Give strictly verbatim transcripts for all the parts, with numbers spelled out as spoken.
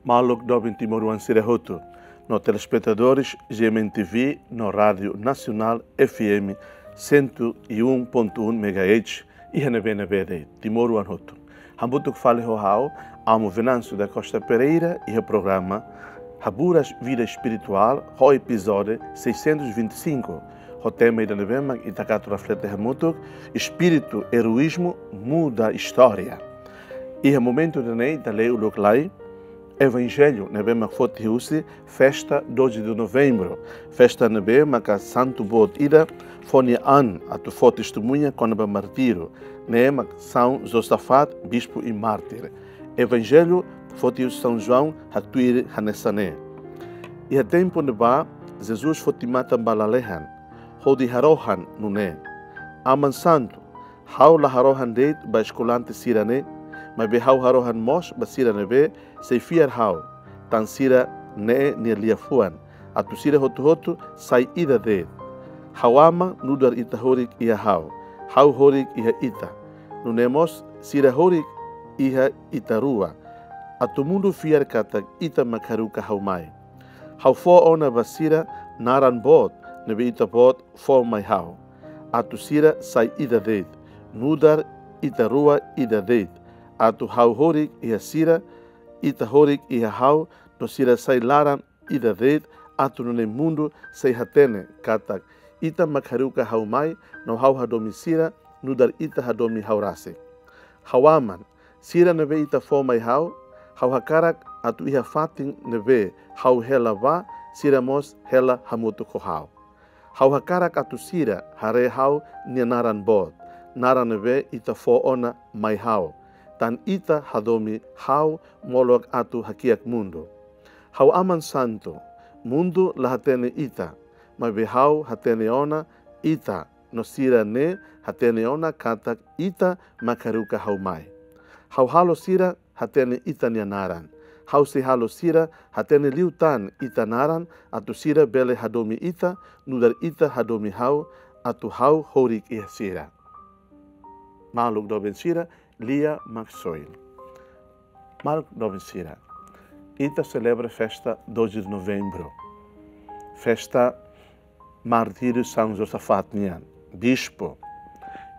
Maluk doben timoroan sira hotu, no telespetadores G M N T V, no Rádio Nacional F M cento e um ponto um megahertz, iha ne'ebé-ne'ebé de'it, timoroan hotu. Hamutuk fali ho ha'u, Amo Venâncio da Costa Pereira, iha programa Haburas Vida Espiritual, ho epizódiu seiscentos e vinte e cinco, ho tema ida ne'ebé mak ita atu reflete hamutuk, Espíritu Heroísmo Muda História. Iha momentu ida-ne'e ita lee uluk lai Evanjellu ne'ebé mak foti husi festa doze de Novembro, festa ne'ebé maka santu boot ida fó nia an atu fó testemuña kona-ba martíriu, ne'e mak São Josafat, bispu i mártir. Evanjellu foti husi São João haktuir hanesan ne'e: Iha tempu ne'ebá, Jesus foti matan ba lalehan, hodi harohan nune'e: Aman Santu, ha'u la harohan de'it ba eskolante sira-ne'e, maibé ha'u harohan mós ba sira ne'ebé sei fiar ha'u, tan sira-ne'e nia liafuan, atu sira hotu-hotu sai ida de'it. Ha'u Aman, nu'udar ita horik iha ha'u, ha'u horik iha ita, nune'e mós sira horik iha ita rua, atu mundu fiar katak ita mak haruka ha'u mai. Ha'u fó ona ba sira naran boot ne'ebé Ita-Boot fó mai ha'u, atu sira sai ida de'it, nu'udar ita rua ida de'it, atu ha'u horik iha sira, ita horik iha ha'u, no sira sai laran ida de'it, atu nune'e mundu sei hatene katak Ita mak haruka ha'u mai, no ha'u hadomi sira, nu'udar Ita hadomi ha'u rasik. Ha'u Aman, sira ne'ebé Ita fó mai ha'u, ha'u hakarak atu iha fatin ne'ebé ha'u hela bá, sira mós hela hamutuk ho ha'u. Ha'u hakarak atu sira haree ha'u-nia naran boot, naran ne'ebé Ita fó ona mai ha'u, tan Ita hadomi ha'u molok atu hakiak mundu. Ha'u Aman Santu, mundu la hatene Ita, maibé ha'u hatene ona Ita, no sira-ne'e hatene ona katak Ita mak haruka ha'u mai. Ha'u halo sira hatene Ita-nia naran. Ha'u sei halo sira hatene liután Ita naran, atu sira bele hadomi Ita, nu'udar Ita hadomi ha'u, atu ha'u horik iha sira. Maluk doben sira, lia Maxwell. Maluk doben sira, ita selebra festa doze de Novembro, festa martíriu São Josafat nian, bispu.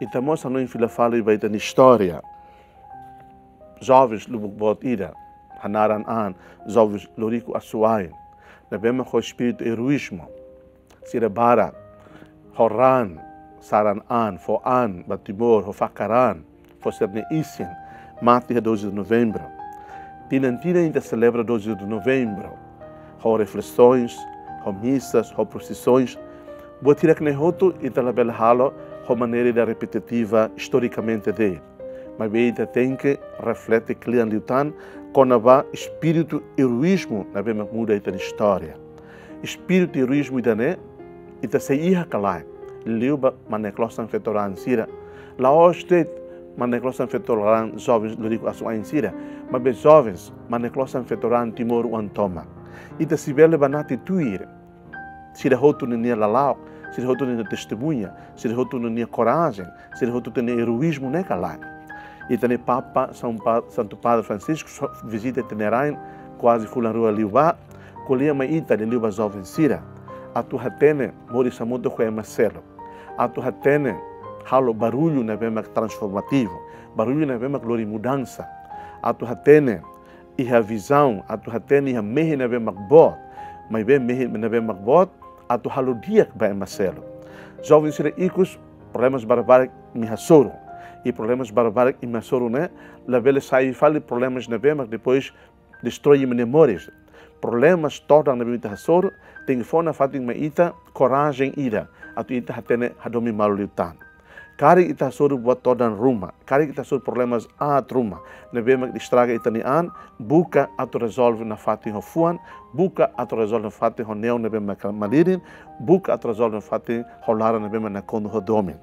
Ita mós hanoin fila fali ba ita-nia istória. Jovens lubuk boot ida, hanaran an, jovens Loriku Asuain, ne'ebé mak ho espíritu eroízmu, sira barak ho raan, saran an, fó an ba Timor, ho fakar an, fó sira-nia isin, mate iha doze de Novembro. Tinan-tinan ita selebra doze de Novembro, ho reflesoens, ho misas, ho prosisoens. Buat hirak-ne'e hotu ita labele halo ho maneira ida repetitiva istorikamente de'it. Maibé ita tenke reflete kle'an liután kona-ba espíritu eroízmu ne'ebé mak muda ita-nia istória. Espíritu eroízmu ida-ne'e, ita sei iha ka lae, liuliu ba mane-klosan feto-raan sira. La'ós de'it mane-klosan feto-raan jovens Loriku Asuain sira, maibé jovens, mane-klosan feto-raan timoroan tomak. Ita sei bele banati tuir sira hotu ninia lala'ok, sira hotu ninia testemuña, sira hotu ninia korajen, sira hotu ninia eroízmu ne'e ka lae. Ita-nia Papa, São Pa-, Santu Padre Francisco, so-, vizita ita-nia rain, kuaze fulan rua liubá, ko'alia mai ita liuliu ba jovens sira, atu hatene moris hamutuk ho ema seluk, atu hatene halo barullu ne'ebé mak transformativu, barullu ne'ebé mak lori mudansa, atu hatene iha vizaun, atu hatene iha mehi ne'ebé mak boot, maibé mehi ne'ebé mak boot atu halo di'ak ba ema seluk. Jovens sira ikus, problemas barak-barak imi hasoru. I problemas barak-barak imi hasoru ne'e labele sai fali problemas ne'ebé mak depois destrói imi-nia moris. Problemas todan ne'ebé ita hasoru tenke fó nafatin mai ita korajen ida atu ita hatene hadomi malu liután. Karik ita hasoru buat todan ruma, karik ita hasoru problemas aat ruma ne'ebé mak estraga ita-nia an, buka atu rezolve nafatin ho fuan, buka atu rezolve nafatin ho neon ne'ebé mak malirin, buka atu rezolve nafatin ho laran ne'ebé mak nakonu ho domin.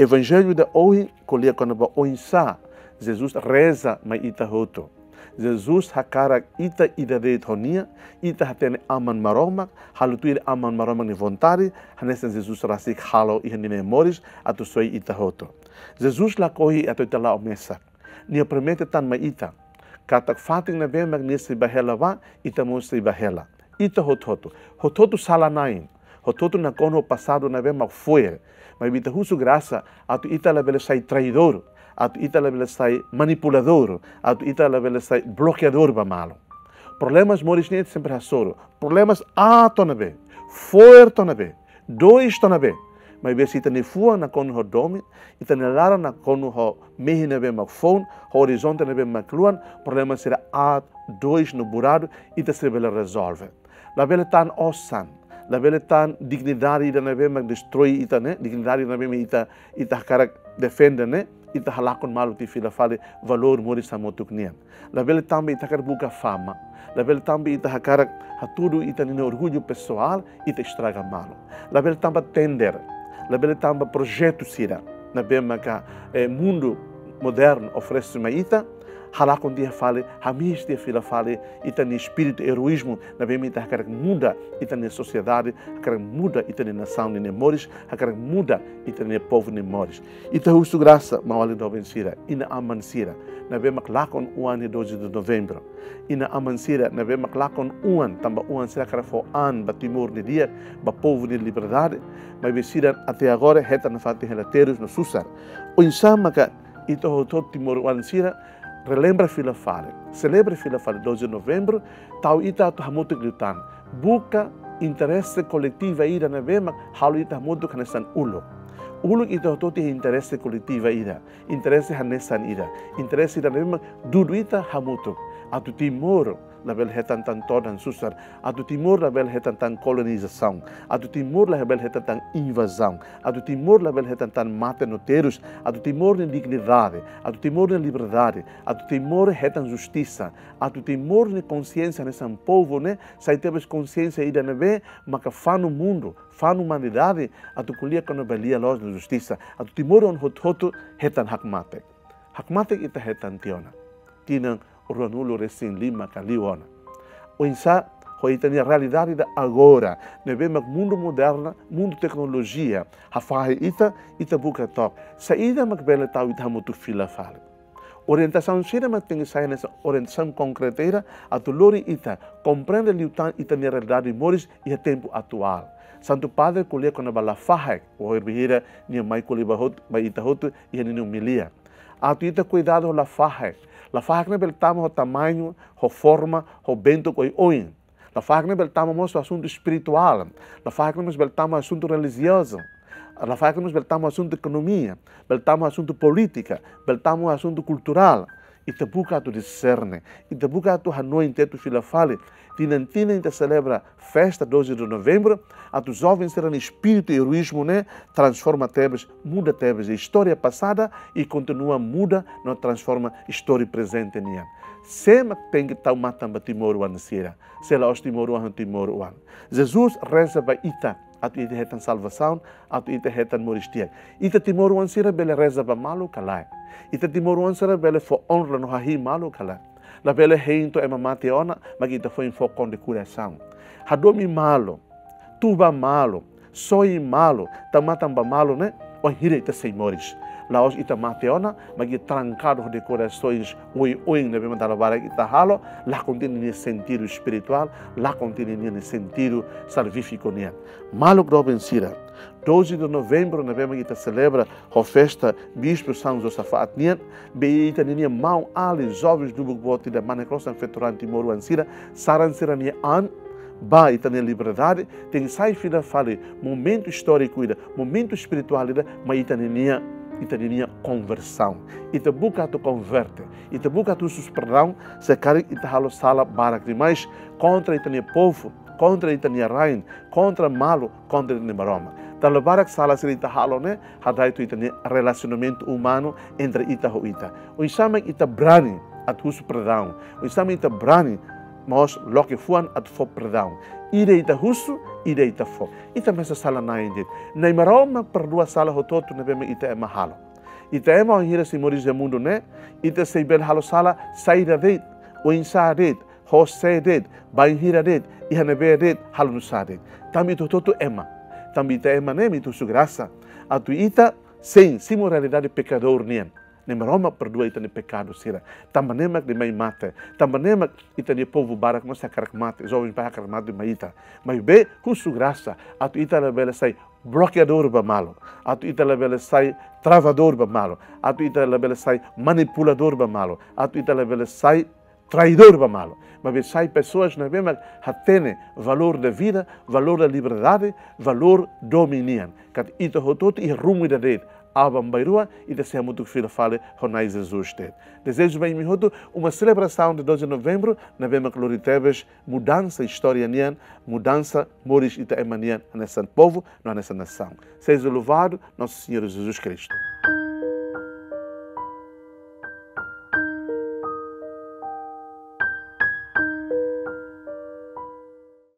Evanjellu ida ohin ko'alia kona-ba oinsá Jesus reza mai ita hotu. Jesus hakarak ita ida de'it ho Nia, ita hatene Aman Maromak, halo tuir Aman Maromak nia vontade, hanesan Jesus rasik halo iha ninia moris, atu soe ita hotu. Jesus lakohi atu ita la'o mesak. Nia promete tan mai ita, Katak fatin ne'ebé mak nia sei bá hela bá, ita mós sei bá hela. Ita hotu-hotu. Hotu-hotu sala-na'in. Hotu-hotu nakonu ho pasadu ne'ebé mak fo'er. Maibé ita husu grasa, atu ita labele sai traidór, atu ita labele sai manipuladór, atu ita labele sai blokeadór ba malu. Problemas moris nian sempre hasoru. Problemas aat ona be, fo'er ona be, dois ona be. Maibé se ita-nia fuan nakonu ho domin, ita-nia laran nakonu ho mehi ne'ebé mak foun, ho orizonte ne'ebé mak luan, problema sira aat, dois no buradu, ita sei bele rezolve. Labele tan osan, labele tan dignidade ida ne'ebé mak destroi ita ne'e, dignidade ida ne'ebé mak ita, ita hakarak defende ne'e, ita halakon malu tiha fila fali valór moris hamutuk nian. Labele tanba ita hakarak buka fama. Labele tanba ita hakarak hatudu ita-nia orgullu pesoál, ita estraga malu. Labele tanba tender. Labele tanba projetu sira ne'ebé maka, eh, mundu modernu oferese mai ita, halakon tiha fali, hamihes tiha fila fali ita-nia espíritu eroízmu ne'ebé mak ita hakarak muda ita-nia sosiedade, hakarak muda ita-nia nasaun nia moris, hakarak muda ita-nia povu nia moris. Ita husu grasa, maun-alin doben sira, inan-aman sira ne'ebé mak lakon oan nia doze de Novembro. Inan-aman sira ne'ebé mak lakon oan, tanba oan sira hakarak fó an ba Timor nia di'ak, ba povu nia liberdade, maibé sira até agora hetan nafatin hela terus no susar. Oinsá maka ita hotu-hotu timoroan sira relembra fila fali, selebra fila fali doze de Novembro, tau ita atu hamutuk liután. Buka interese koletivu ida ne'ebé mak halo ita hamutuk hanesan uluk. Uluk ita hotu-hotu iha interese koletivu ida, interese hanesan ida, interese ida ne'ebé mak dudu ita hamutuk. Atu Timor labele hetan tan todan susar, atu Timor labele hetan tan kolonizasaun, atu Timor labele hetan tan invazaun, atu Timor labele hetan tan mate no terus, atu Timor nia dignidade, atu Timor nia liberdade, atu Timor hetan justisa, atu Timor nia konsiénsia hanesan povu ne'e sai tebes konsiénsia ida ne'ebé maka fanu mundu, fanu umanidade, atu ko'alia kona-ba lia-loos no justisa, atu timoroan hotu-hotu hetan hakmatek. Hakmatek ita hetan tiha ona. Tinan ruanulu-resin-lima ka liu ona. Oinsá, ho ita-nia realidade ida agora, ne'ebé mak mundu moderna, mundu teknolojia hafahe ita, ita buka took saida mak bele tau ita hamutuk fila fali. Orientasaun sira mak tenke sai hanesan orientasaun konkreta ida atu lori ita komprende liután ita-nia realidade moris iha tempu atuál. Santu Padre ko'alia kona-ba lafahe, wainhira nia mai ko'alia ba hotu, ba ita hotu iha ninia omilia. Atu ita kuidadu ho lafahe. Lafahe ne'e bele tama ho tamañu, ho forma, ho bentuk oioin. Lafahe ne'e bele tama mós ho asuntu espirituál. Lafahe ne'e mós bele tama asuntu relijiozu. Lafahe ne'e mós bele tama asuntu ekonomia. Bele tama asuntu polítika. Bele tama asuntu kulturál. Ita buka atu diserne. Ita buka atu hanoin tetu fila fali. Tinan-tinan ita selebra festa doze de Novembro, atu joven sira-nia espíritu eroízmu ne'e transforma tebes, muda tebes istória pasada i kontinua muda no transforma istória prezente nian. Sé mak tenke tau matan ba timoroan sira? Sé la'ós timoroan, timoroan. Jesus reza ba ita atu ita hetan salvasaun, atu ita hetan moris di'ak. Ita timoroan sira bele reza ba malu ka lae? Ita timoroan sira bele fó onra no hahi'i malu ka lae? Labele hein to'o ema mate ona, mak ita foin fó kondekorasaun. Hadomi malu, tuba malu, soi malu, tau matan ba malu ne'e, wainhira ita sei moris. La'ós ita mate ona, mak ita trankadu ho dekorasoens oioin ne'ebé mak dala barak ita halo, lakon tiha ninia sentidu espirituál, lakon tiha ninia sentidu salvífiku nian. Maluk doben sira, doze de Novembro ne'ebé mak ita selebra ho festa Bispu São Josafat nian, be ita-nia maun-alin jovens lubuk boot ida, Manek Rosan Feturan, timoroan sira, saran sira-nia an ba ita-nia liberdade, tenke sai fila fali momentu istóriku ida, momentu espirituál ida, mai ita-nia, ita-nia konversaun. Ita buka atu konverte, ita buka atu husu perdaun, se karik ita halo sala barak demais kontra ita-nia povu, kontra ita-nia rain, kontra malu, kontra ita-nia Maromak. Dala barak sala sira ita halo ne'e, hada'et ita-nia relasionamentu umanu entre ita ho ita. Oinsá mak ita brani atu husu perdaun? Oinsá mak ita brani mós loke fuan atu fó perdaun? Ida ita husu, ida ita fó. Ita mesak sala-na'in de'it. Na'i Maromak perdua sala hotu-hotu ne'ebé mak ita ema halo. Ita ema wainhira sei moris iha mundu ne'e, ita sei bele halo sala saida de'it, oinsá de'it, ho sé de'it, bainhira de'it, iha ne'ebé de'it, halo nusá de'it. Tanba ita hotu-hotu ema. Tanba ita ema ne'e mak ita husu grasa atu ita sein simu realidade pekadór nian. Ne'e Maromak perdua ita-nia pekadu sira. Tanba ne'e mak ita mai mate. Tanba ne'e mak ita-nia povu barak mós hakarak mate. Jovens barak hakarak mate mai ita. Maibé husu grasa atu ita labele sai blokeadór ba malu. Atu ita labele sai travadór ba malu. Atu ita labele sai manipuladór ba malu. Atu ita labele sai traidór ba malu. Maibé sai pesoas ne'ebé mak hatene valór da vida, valór da liberdade, valór domin nian. Katak ita hotu-hotu iha rumu ida de'it, aban-bainrua ita sei hamutuk fila fali ho Na'i Jesus de'it. Dezeja ba imi hotu uma selebrasaun dia doze de novembro ne'ebé mak lori tebes mudansa istória nian, mudansa moris ita ema nian, hanesan povu no hanesan nasaun. Seja louvado Nosso Senhor Jesus Cristo.